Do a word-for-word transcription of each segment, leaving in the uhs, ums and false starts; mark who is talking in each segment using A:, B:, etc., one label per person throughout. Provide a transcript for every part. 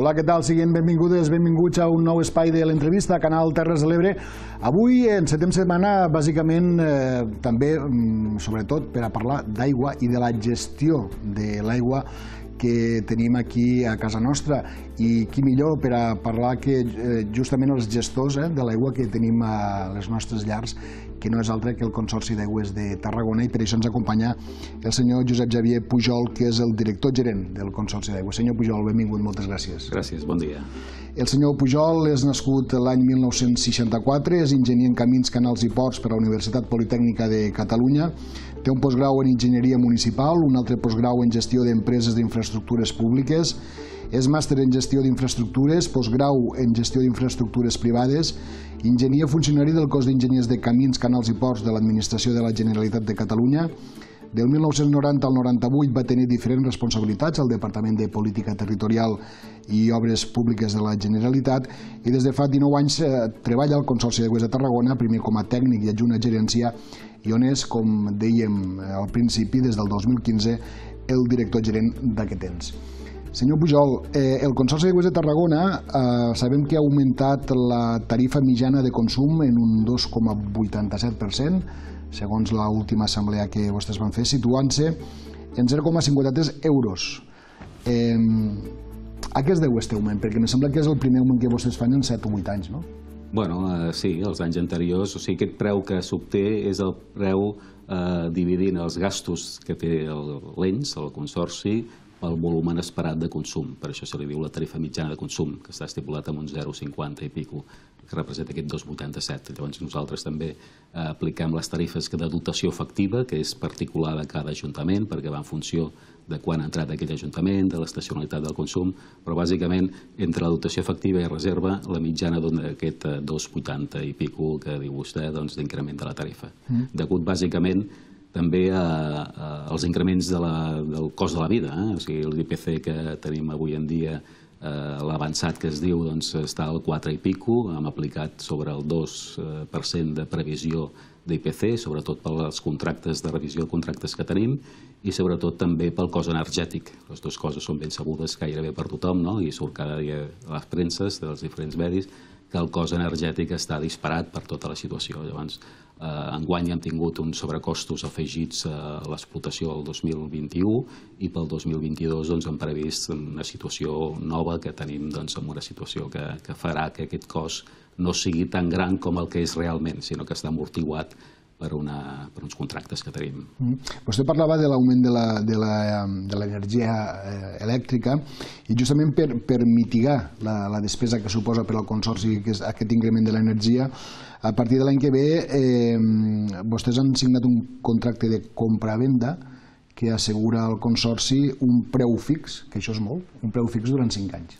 A: Hola, què tal? Siguin benvingudes, benvinguts a un nou espai de l'entrevista a Canal Terres de l'Ebre. Avui encetem setmana, bàsicament, eh, també, sobretot, per a parlar d'aigua i de la gestió de l'aigua que tenim aquí a casa nostra. I qui millor per a parlar que eh, justament els gestors eh, de l'aigua que tenim a les nostres llars, que no és altre que el Consorci d'Aigües de Tarragona, i per això ens acompanya el senyor Josep Xavier Pujol, que és el director gerent del Consorci d'Aigües. Senyor Pujol, benvingut, moltes gràcies.
B: Gràcies, bon dia.
A: El senyor Pujol és nascut l'any mil nou-cents seixanta-quatre, és enginyer en camins, canals i ports per a la Universitat Politècnica de Catalunya, té un postgrau en enginyeria municipal, un altre postgrau en gestió d'empreses d'infraestructures públiques, és màster en gestió d'infraestructures, postgrau en gestió d'infraestructures privades, enginyer funcionari del cos d'enginyers de camins, canals i ports de l'Administració de la Generalitat de Catalunya. Del mil nou-cents noranta al noranta-vuit va tenir diferents responsabilitats al Departament de Política Territorial i Obres Públiques de la Generalitat i des de fa dinou anys treballa al Consorci d'Aigües de Tarragona, primer com a tècnic i adjunt a gerència, i on és, com dèiem al principi, des del dos mil quinze, el director gerent d'aquest temps. Senyor Pujol, el Consorci d'Aigües de Tarragona sabem que ha augmentat la tarifa mitjana de consum en un dos coma vuitanta-set per cent, segons l'última assemblea que vostès van fer, situant-se en zero coma cinquanta-tres euros. A què es deu aquest augment? Perquè em sembla que és el primer augment que vostès fan en set o vuit anys, no?
B: Bueno, sí, els anys anteriors, o sigui, aquest preu que s'obté és el preu dividint els gastos que té l'E N S, el Consorci, pel volum esperat de consum. Per això se li diu la tarifa mitjana de consum, que està estipulat amb un zero coma cinquanta i pico, que representa aquest dos coma vuitanta-set. Llavors nosaltres també apliquem les tarifes de dotació efectiva, que és particular de cada ajuntament, perquè va en funció de quan ha entrat aquell ajuntament, de l'estacionalitat del consum, però bàsicament entre la dotació efectiva i reserva, la mitjana d'aquest dos coma vuitanta i pico que diu vostè d'increment de la tarifa. Degut bàsicament també als increments del cost de la vida, o sigui, l'I P C que tenim avui en dia, l'avançat que es diu, està al quatre i pico, hem aplicat sobre el dos per cent de previsió d'I P C, sobretot pels contractes de revisió de contractes que tenim i sobretot també pel cost energètic. Les dues coses són ben sabudes gairebé per tothom, i surt cada dia a les premses dels diferents medis que el cost energètic està disparat per tota la situació. Llavors, enguany hem tingut uns sobrecostos afegits a l'explotació del dos mil vint-i-u i pel dos mil vint-i-dos hem previst una situació nova que tenim en una situació que farà que aquest cost no sigui tan gran com el que és realment, sinó que està amortiguat per uns contractes que tenim.
A: Vostè parlava de l'augment de l'energia elèctrica i justament per mitigar la despesa que suposa per al Consorci aquest increment de l'energia, a partir de l'any que ve vostès han signat un contracte de compra-venda que assegura al Consorci un preu fix, que això és molt, un preu fix durant cinc anys.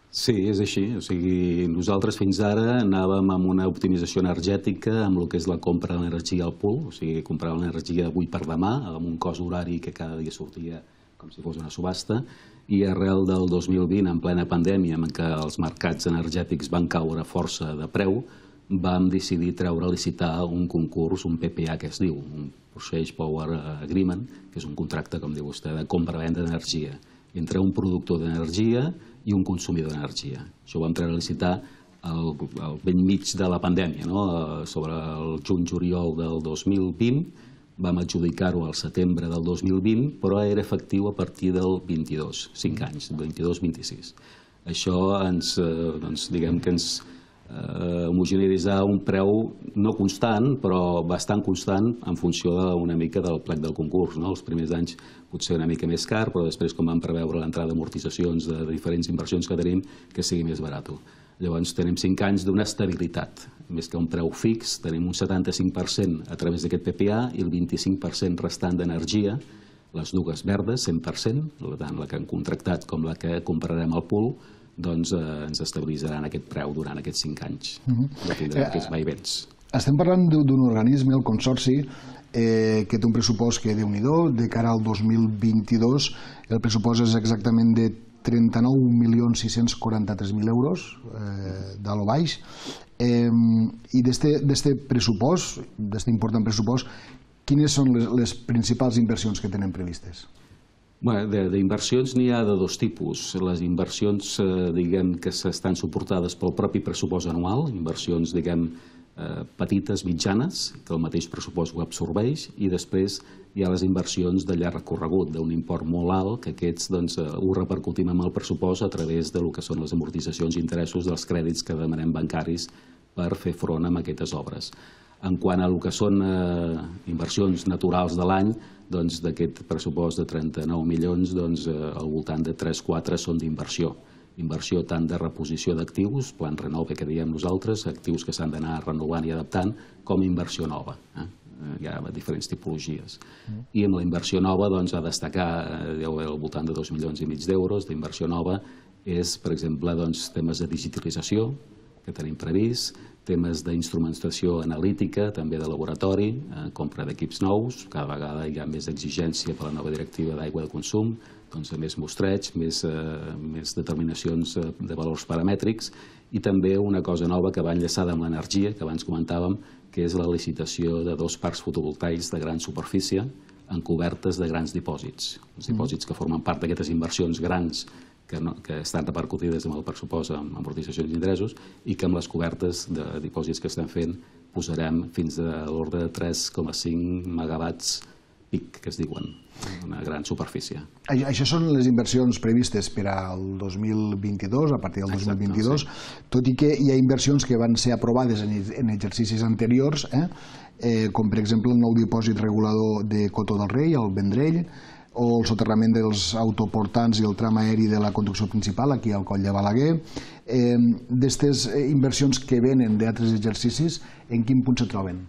B: Sí, és així. O sigui, nosaltres fins ara anàvem amb una optimització energètica amb el que és la compra d'energia al pool, o sigui, compràvem l'energia d'avui per demà, amb un cost horari que cada dia sortia com si fos una subhasta, i arrel del dos mil vint, en plena pandèmia, en què els mercats energètics van caure força de preu, vam decidir treure a licitar un concurs, un P P A que es diu, un Purchase Power Agreement, que és un contracte, com diu vostè, de compra-venda d'energia entre un productor d'energia i un consumidor d'energia. Això ho vam treure a licitar al bell mig de la pandèmia, sobre el juny-juliol del dos mil vint, vam adjudicar-ho al setembre del dos mil vint, però era efectiu a partir del vint-i-dos, cinc anys, vint-i-dos vint-i-sis. Això ens, diguem que ens homogeneitzar un preu no constant, però bastant constant en funció una mica del plec del concurs. Els primers anys potser una mica més car, però després, com vam preveure l'entrada d'amortitzacions de diferents inversions que tenim, que sigui més barat. Llavors tenim cinc anys d'una estabilitat. Més que un preu fix, tenim un setanta-cinc per cent a través d'aquest P P A i el vint-i-cinc per cent restant d'energia, les dues verdes, cent per cent, tant la que hem contractat com la que comprarem al pool, doncs ens estabilitzaran aquest preu durant aquests cinc anys. No tindrem aquests vaivens.
A: Estem parlant d'un organisme, el Consorci, que té un pressupost que, Déu-n'hi-do, de cara al dos mil vint-i-dos, el pressupost és exactament de trenta-nou milions sis-cents quaranta-tres mil euros, d'alt o baix, i d'aquest pressupost, d'aquest important pressupost, quines són les principals inversions que tenen previstes?
B: D'inversions n'hi ha de dos tipus. Les inversions, diguem, que estan suportades pel propi pressupost anual, inversions, diguem, petites, mitjanes, que el mateix pressupost ho absorbeix, i després hi ha les inversions de llarg recorregut, d'un import molt alt, que aquests ho repercutim amb el pressupost a través del que són les amortitzacions i interessos dels crèdits que demanem bancaris per fer front a aquestes obres. En quant a el que són inversions naturals de l'any, d'aquest pressupost de trenta-nou milions, al voltant de tres o quatre són d'inversió. Inversió tant de reposició d'actius, plan renove que diem nosaltres, actius que s'han d'anar renovant i adaptant, com inversió nova. Hi ha diferents tipologies. I amb la inversió nova ha de destacar al voltant de dos milions i mig d'euros d'inversió nova és, per exemple, temes de digitalització que tenim previst, temes d'instrumentació analítica, també de laboratori, compra d'equips nous, cada vegada hi ha més exigència per la nova directiva d'aigua de consum, més mostreig, més determinacions de valors paramètrics i també una cosa nova que va enllaçada amb l'energia, que abans comentàvem, que és la licitació de dos parcs fotovoltaics de gran superfície en cobertes de grans dipòsits. Els dipòsits que formen part d'aquestes inversions grans que estan repercutides amb el pressupost amb amortitzacions i interessos i que amb les cobertes de dipòsits que estem fent posarem fins a l'ordre de tres coma cinc megawatts pic, que es diuen, una gran superfície.
A: Això són les inversions previstes per al dos mil vint-i-dos, a partir del dos mil vint-i-dos, tot i que hi ha inversions que van ser aprovades en exercicis anteriors, com per exemple el nou dipòsit regulador de Coto del Rei, al Vendrell, o el soterrament dels autoportants i el tram aeri de la conducció principal, aquí al Coll de Balaguer. D'aquestes inversions que venen d'altres exercicis, en quin punt se troben?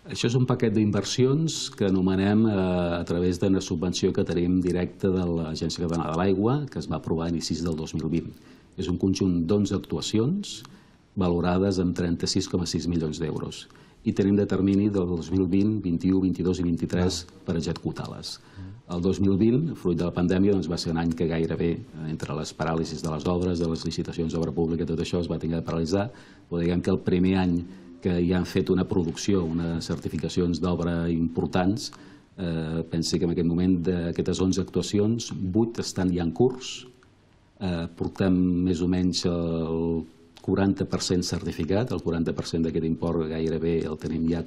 B: Això és un paquet d'inversions que anomenem a través d'una subvenció que tenim directa de l'Agència Catalana de l'Aigua, que es va aprovar a inicis del dos mil vint. És un conjunt d'onze actuacions valorades amb trenta-sis coma sis milions d'euros. I tenim de termini del dos mil vint, vint-i-u, vint-i-dos i vint-i-tres per executar-les. El dos mil vint, fruit de la pandèmia, va ser un any que gairebé, entre les paràlisis de les obres, de les licitacions d'obra pública, tot això es va tenir de paralitzar, però diguem que el primer any que hi han fet una producció, unes certificacions d'obra importants, pensi que en aquest moment d'aquestes onze actuacions, vuit estan ja en curs, portem més o menys el quaranta per cent certificat, el quaranta per cent d'aquest import gairebé el tenim ja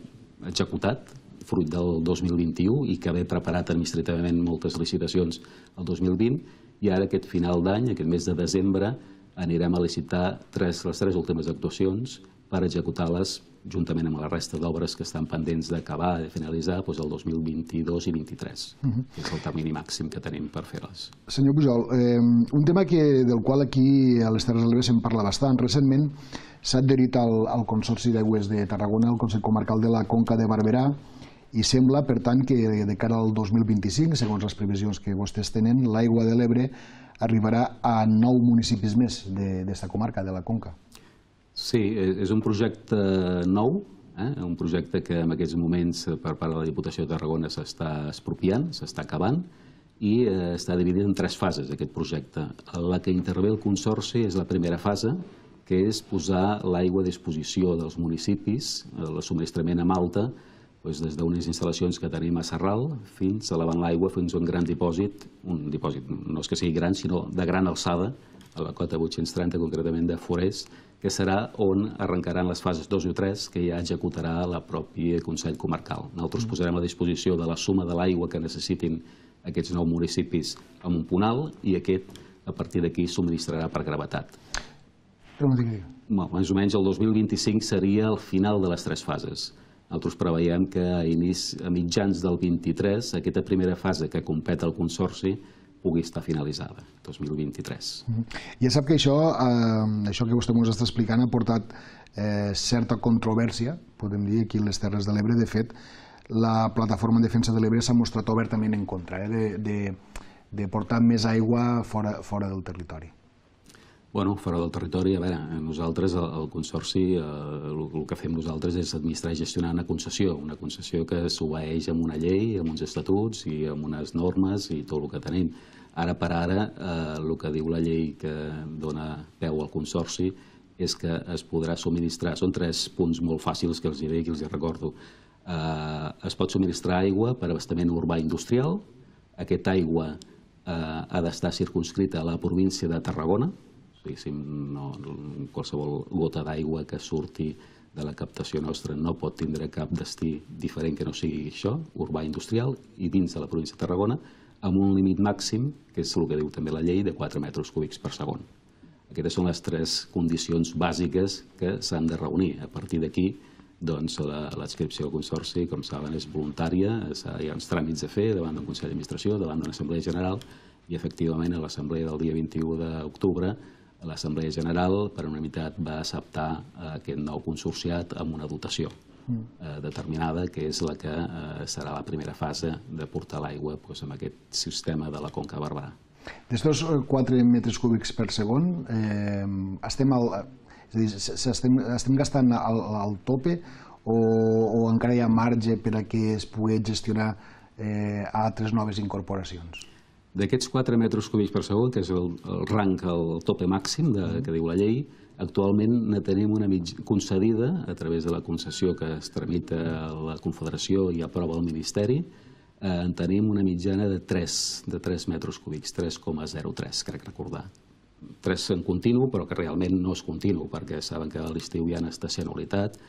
B: executat, fruit del dos mil vint-i-u i que haver preparat administrativament moltes licitacions el dos mil vint, i ara aquest final d'any, aquest mes de desembre, anirem a licitar les tres últimes actuacions per executar-les juntament amb la resta d'obres que estan pendents d'acabar, de finalitzar, el dos mil vint-i-dos i vint-i-tres, que és el termini màxim que tenim per fer-les.
A: Senyor Pujol, un tema del qual aquí a les Terres de l'Ebre se'n parla bastant. Recentment s'ha adherit al Consorci d'Aigües de Tarragona, al Consell Comarcal de la Conca de Barberà, i sembla, per tant, que de cara al dos mil vint-i-cinc, segons les previsions que vostès tenen, l'aigua de l'Ebre arribarà a nou municipis més d'esta comarca, de la Conca.
B: Sí, és un projecte nou, un projecte que en aquests moments per part de la Diputació de Tarragona s'està expropiant, s'està acabant, i està dividit en tres fases, aquest projecte. La que intervé el Consorci és la primera fase, que és posar l'aigua a disposició dels municipis, el subministrament amb alta, des d'unes instal·lacions que tenim a Sarral fins a elevant l'aigua fins a un gran dipòsit, un dipòsit no és que sigui gran, sinó de gran alçada, a la cota vuit-cents trenta, concretament de Forès, que serà on arrencaran les fases dos i tres que ja executarà el propi Consell Comarcal. Nosaltres posarem a disposició de la suma de l'aigua que necessitin aquests nou municipis amb un punt alt i aquest, a partir d'aquí, subministrarà per gravetat. Més o menys el dos mil vint-i-cinc seria el final de les tres fases. Nosaltres preveiem que a mitjans del vint-i-tres aquesta primera fase que competa el Consorci pugui estar finalitzada, dos mil vint-i-tres.
A: Ja sap que això, això que vostè ens està explicant, ha portat certa controvèrsia, podem dir, aquí a les Terres de l'Ebre. De fet, la Plataforma en Defensa de l'Ebre s'ha mostrat obertament en contra de portar més aigua fora del territori.
B: Bueno, fora del territori, a veure, nosaltres, el Consorci, el que fem nosaltres és administrar i gestionar una concessió, una concessió que s'obeeix amb una llei, amb uns estatuts i amb unes normes i tot el que tenim. Ara per ara, el que diu la llei que dona peu al Consorci és que es podrà subministrar, són tres punts molt fàcils que els diré i que els recordo. Es pot subministrar aigua per abastament urbà industrial, aquesta aigua ha d'estar circunscrita a la província de Tarragona, qualsevol gota d'aigua que surti de la captació nostra no pot tindre cap destí diferent que no sigui això, urbà industrial, i dins de la província de Tarragona, amb un límit màxim, que és el que diu també la llei, de quatre metres cúbics per segon. Aquestes són les tres condicions bàsiques que s'han de reunir. A partir d'aquí, l'adscripció al Consorci, com saben, és voluntària, hi ha uns tràmits a fer davant d'un Consell d'Administració, davant d'una Assemblea General, i efectivament a l'Assemblea del dia vint-i-u d'octubre l'Assemblea General, per unanimitat, va acceptar aquest nou consorciat amb una dotació determinada, que és la que serà la primera fase de portar l'aigua en aquest sistema de la Conca de Barberà.
A: D'estos quatre metres cúbics per segon, estem gastant al tope o encara hi ha marge per a que es pugui gestionar altres noves incorporacions?
B: D'aquests quatre metres cúbics per segon, que és el rang, el tope màxim que diu la llei, actualment ne tenim una concedida a través de la concessió que es tramita a la Confederació i aprova el Ministeri, en tenim una mitjana de tres metres cúbics, tres coma zero tres, crec recordar. tres en continu, però que realment no és continu, perquè saben que a l'estiu hi ha estacionalitat,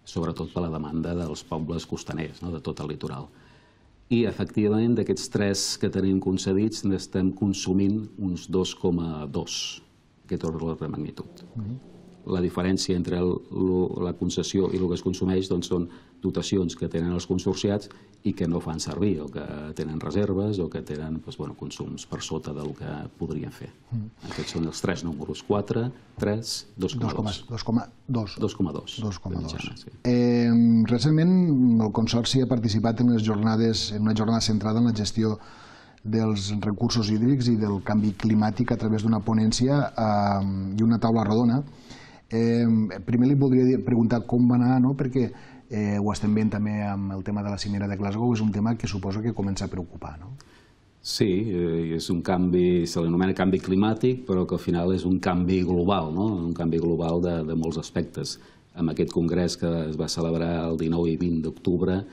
B: sobretot per la demanda dels pobles costaners, de tot el litoral. I, efectivament, d'aquests tres que tenim concedits, n'estem consumint uns dos coma dos, aquest ordre de magnitud. La diferència entre la concessió i el que es consumeix són dotacions que tenen els consorciats i que no fan servir, o que tenen reserves, o que tenen consums per sota del que podrien fer. Aquests són els tres números, quatre, tres, dos coma dos.
A: dos coma dos.
B: dos coma dos.
A: Recentment el Consorci ha participat en una jornada centrada en la gestió dels recursos hídrics i del canvi climàtic a través d'una ponència i una taula rodona. Primer li voldria preguntar com va anar, perquè ho estem veient també amb el tema de la cimera de Glasgow, és un tema que suposo que comença a preocupar, no?
B: Sí, és un canvi, se l'anomena canvi climàtic, però que al final és un canvi global, un canvi global de molts aspectes. En aquest congrés que es va celebrar el dinou i vint d'octubre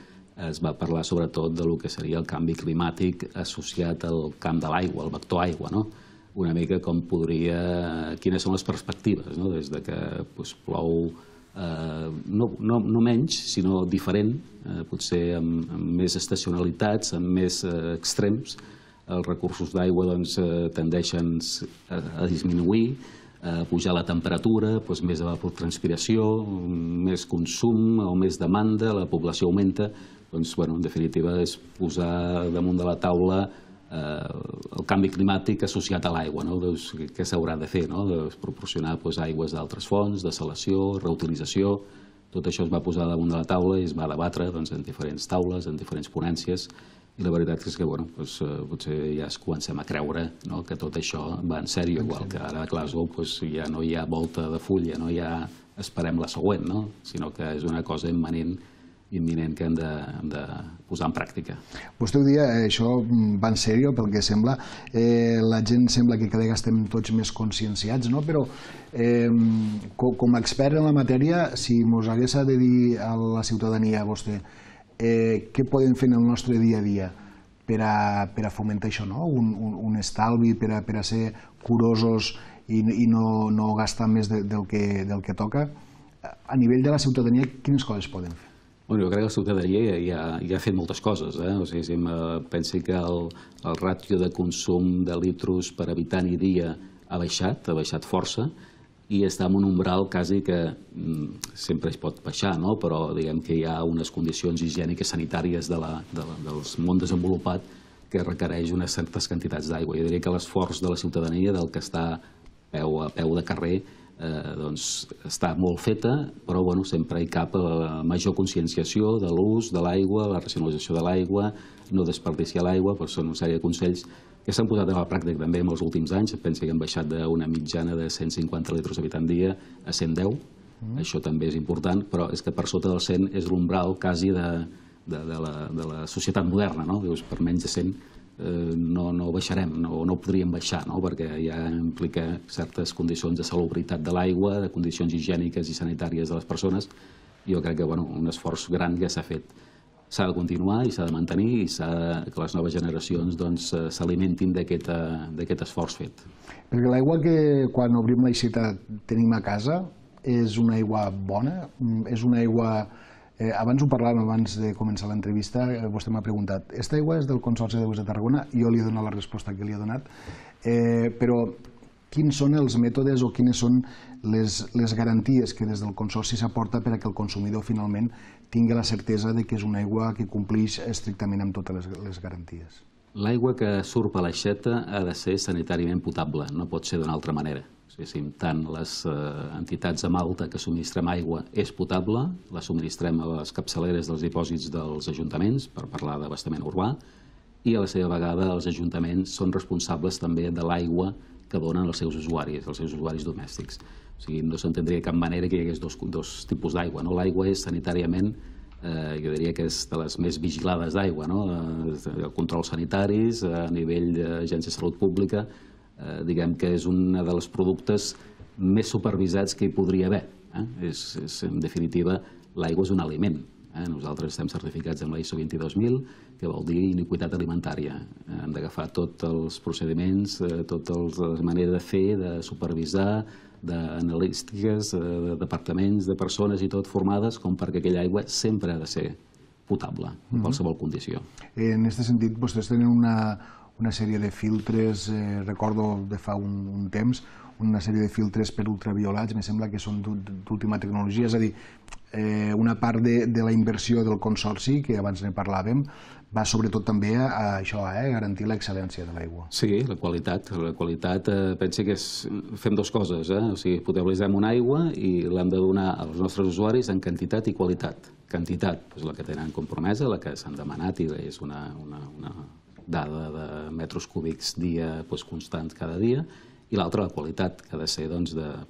B: es va parlar sobretot del que seria el canvi climàtic associat al camp de l'aigua, al vector aigua, no? Una mica com podria, quines són les perspectives, des que plou no menys, sinó diferent, potser amb més estacionalitats, amb més extrems. Els recursos d'aigua tendeixen a disminuir, a pujar la temperatura, més evapotranspiració, més consum o més demanda, la població augmenta. En definitiva, és posar damunt de la taula el canvi climàtic associat a l'aigua, què s'haurà de fer, proporcionar aigües d'altres fonts, dessalació, reutilització, tot això es va posar damunt de la taula i es va debatre en diferents taules, en diferents ponències, i la veritat és que potser ja es comencem a creure que tot això va en sèrio, igual que ara a Glasgow ja no hi ha volta de full, ja no hi ha esperem la següent, sinó que és una cosa immanent imminent que hem de posar en pràctica.
A: Vostè ho dia, això va en sèrio, pel que sembla. La gent sembla que cada vegada estem tots més conscienciats, però com a expert en la matèria, si mos hagués de dir a la ciutadania, vostè, què podem fer en el nostre dia a dia per a fomentar això, un estalvi, per a ser curosos i no gastar més del que toca, a nivell de la ciutadania, quines coses poden fer?
B: Jo crec que la ciutadania ja ha fet moltes coses. Pensi que el ràtio de consum de litros per habitant i dia ha baixat, ha baixat força, i està en un umbral quasi que sempre es pot baixar, però diguem que hi ha unes condicions higièniques sanitàries del món desenvolupat que requereix unes certes quantitats d'aigua. Jo diria que l'esforç de la ciutadania, del que està a peu de carrer, està molt feta, però sempre hi cap major conscienciació de l'ús de l'aigua, la racionalització de l'aigua, no desperdiciar l'aigua, són una sèrie de consells que s'han posat a la pràctica també en els últims anys. Pensa que han baixat d'una mitjana de cent cinquanta litres habitant dia a cent deu. Això també és important, però és que per sota del cent és l'umbral quasi de la societat moderna. Per menys de cent no baixarem, no podríem baixar, perquè ja implica certes condicions de salubritat de l'aigua, de condicions higièniques i sanitàries de les persones. Jo crec que un esforç gran ja s'ha fet. s'ha de continuar i s'ha de mantenir i que les noves generacions s'alimentin d'aquest esforç fet.
A: Perquè l'aigua que quan obrim l'aixeta tenim a casa és una aigua bona? És una aigua... Abans ho parlàvem, abans de començar l'entrevista, vostè m'ha preguntat, aquesta aigua és del Consorci d'Aigües de Tarragona? Jo li he donat la resposta que li he donat, però quins són els mètodes o quines són les garanties que des del Consorci s'aporta per a que el consumidor finalment tingui la certesa que és una aigua que compleix estrictament amb totes les garanties?
B: L'aigua que surt per l'aixeta ha de ser sanitàriament potable, no pot ser d'una altra manera. Tant les entitats amb alta que subministrem aigua és potable, la subministrem a les capçaleres dels dipòsits dels ajuntaments, per parlar d'abastament urbà, i a la seva vegada els ajuntaments són responsables també de l'aigua que donen els seus usuaris, els seus usuaris domèstics. O sigui, no s'entendria de cap manera que hi hagués dos tipus d'aigua. L'aigua és sanitàriament, jo diria que és de les més vigilades d'aigua, controls sanitaris, a nivell d'Agència de Salut Pública, diguem que és un dels productes més supervisats que hi podria haver. En definitiva, l'aigua és un aliment. Nosaltres estem certificats amb la I S O vint dos mil, que vol dir iniquitat alimentària. Hem d'agafar tots els procediments, totes les maneres de fer, de supervisar, d'analístiques, de departaments, de persones i tot formades com perquè aquella aigua sempre ha de ser potable, en qualsevol condició.
A: En aquest sentit, vostès tenen una sèrie de filtres, recordo de fa un temps, una sèrie de filtres per ultraviolats, em sembla que són d'última tecnologia, és a dir, una part de la inversió del Consorci, que abans ne parlàvem, va sobretot també a això, a garantir l'excel·lència de l'aigua.
B: Sí, la qualitat. La qualitat, pensi que fem dues coses, o sigui, potabilitzem una aigua i l'hem de donar als nostres usuaris en quantitat i qualitat. Quantitat, la que tenen compromesa, la que s'han demanat i és una dada de metres cúbics dia constants cada dia, i l'altra, la qualitat, que ha de ser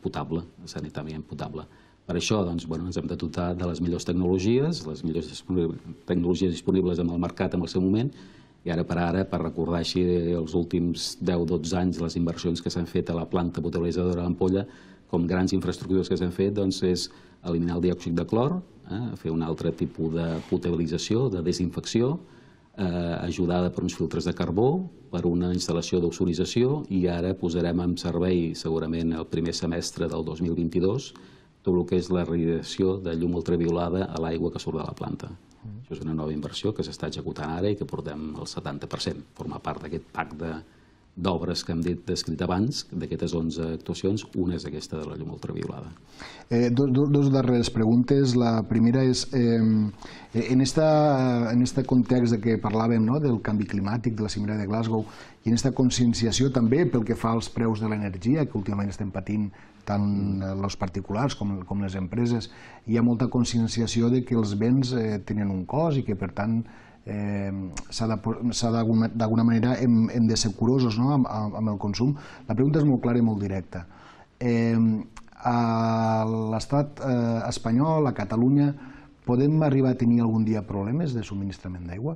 B: potable, sanitàriament potable. Per això ens hem de dotar de les millors tecnologies, les millors tecnologies disponibles en el mercat en el seu moment, i ara per ara, per recordar així els últims deu a dotze anys les inversions que s'han fet a la planta potabilitzadora d'Ampolla, com grans infraestructures que s'han fet, és eliminar el diòxid de clor, fer un altre tipus de potabilització, de desinfecció, ajudada per uns filtres de carbó, per una instal·lació d'ozonització, i ara posarem en servei, segurament el primer semestre del dos mil vint-i-dos, tot el que és la radiació de llum ultraviolada a l'aigua que surt de la planta. Això és una nova inversió que s'està executant ara i que portem el setanta per cent. Forma part d'aquest pack d'obres que hem descrit abans, d'aquestes onze actuacions, una és aquesta de la llum ultraviolada.
A: Dos darreres preguntes. La primera és, en aquest context que parlàvem del canvi climàtic, de la cimera de Glasgow, i en aquesta conscienciació també pel que fa als preus de l'energia, que últimament estem patint tant els particulars com les empreses, hi ha molta conscienciació que els béns tenen un cost i que, per tant, d'alguna manera hem de ser curosos amb el consum. La pregunta és molt clara i molt directa. A l'estat espanyol, a Catalunya, podem arribar a tenir algun dia problemes de subministrament d'aigua?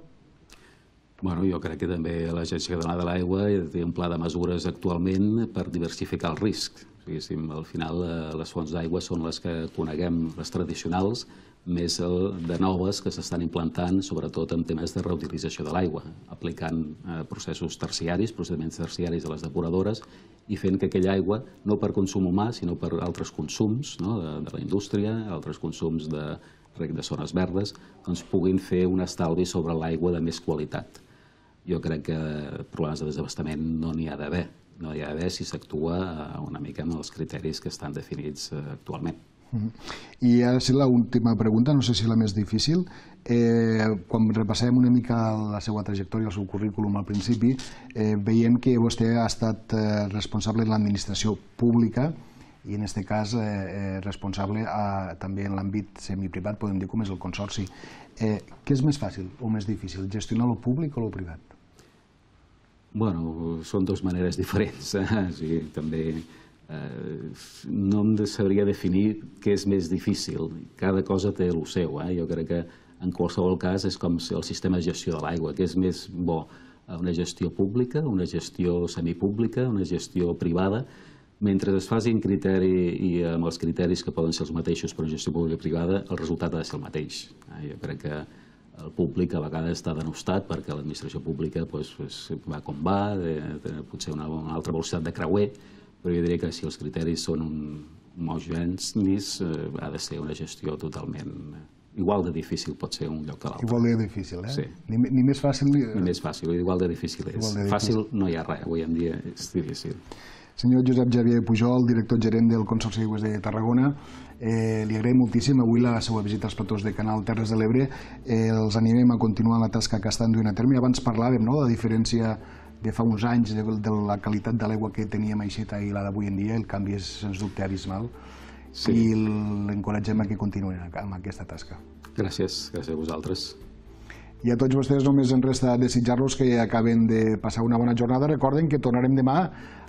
B: Jo crec que també l'Agència Catalana de l'Aigua té un pla de mesures actualment per diversificar el risc. Al final, les fonts d'aigua són les que coneguem, les tradicionals, més de noves que s'estan implantant, sobretot en temes de reutilització de l'aigua, aplicant processos terciaris, procediments terciaris a les depuradores i fent que aquella aigua, no per consum humà, sinó per altres consums de la indústria, altres consums de zones verdes, puguin fer un estalvi sobre l'aigua de més qualitat. Jo crec que problemes de desabastament no n'hi ha d'haver. No hi ha d'haver si s'actua una mica amb els criteris que estan definits actualment.
A: I ara sí, l'última pregunta, no sé si la més difícil. Quan repassem una mica la seva trajectòria, el seu currículum al principi, veiem que vostè ha estat responsable en l'administració pública i en aquest cas responsable també en l'àmbit semiprivat, podem dir com és el Consorci. Què és més fàcil o més difícil, gestionar el públic o el privat?
B: Bueno, són dues maneres diferents. També no em sabria definir què és més difícil. Cada cosa té el seu. Jo crec que en qualsevol cas és com el sistema de gestió de l'aigua, que és més bo una gestió pública, una gestió semipública, una gestió privada. Mentre es faci en criteri i amb els criteris que poden ser els mateixos per una gestió pública i privada, el resultat ha de ser el mateix. Jo crec que el públic a vegades està denostat perquè l'administració pública va com va, potser una altra velocitat de creuer, però jo diria que si els criteris són homogenis, ha de ser una gestió totalment... Igual de difícil pot ser un lloc que l'altre.
A: Igual de difícil, eh?
B: Sí.
A: Ni més fàcil...
B: Ni més fàcil, igual de difícil és. Fàcil no hi ha res, avui en dia és difícil.
A: Senyor Josep Xavier Pujol, director gerent del Consorci d'Aigües de Tarragona, li agraïm moltíssim avui la seva visita als platós de Canal Terres de l'Ebre. Els animem a continuar la tasca que estan duent a terme. Abans parlàvem de la diferència de fa uns anys de la qualitat de l'aigua que teníem a Aixeta i la d'avui en dia. El canvi és, sens dubte, abismal. I l'encoratgem a que continuïn amb aquesta tasca.
B: Gràcies, gràcies a vosaltres.
A: I a tots vostès només ens resta desitjar-los que acaben de passar una bona jornada. Recorden que tornarem demà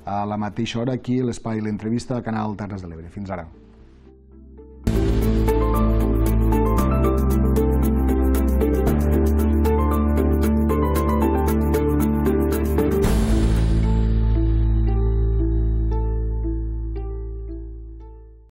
A: a la mateixa hora aquí a l'espai L'Entrevista a Canal Terres de l'Ebre. Fins ara.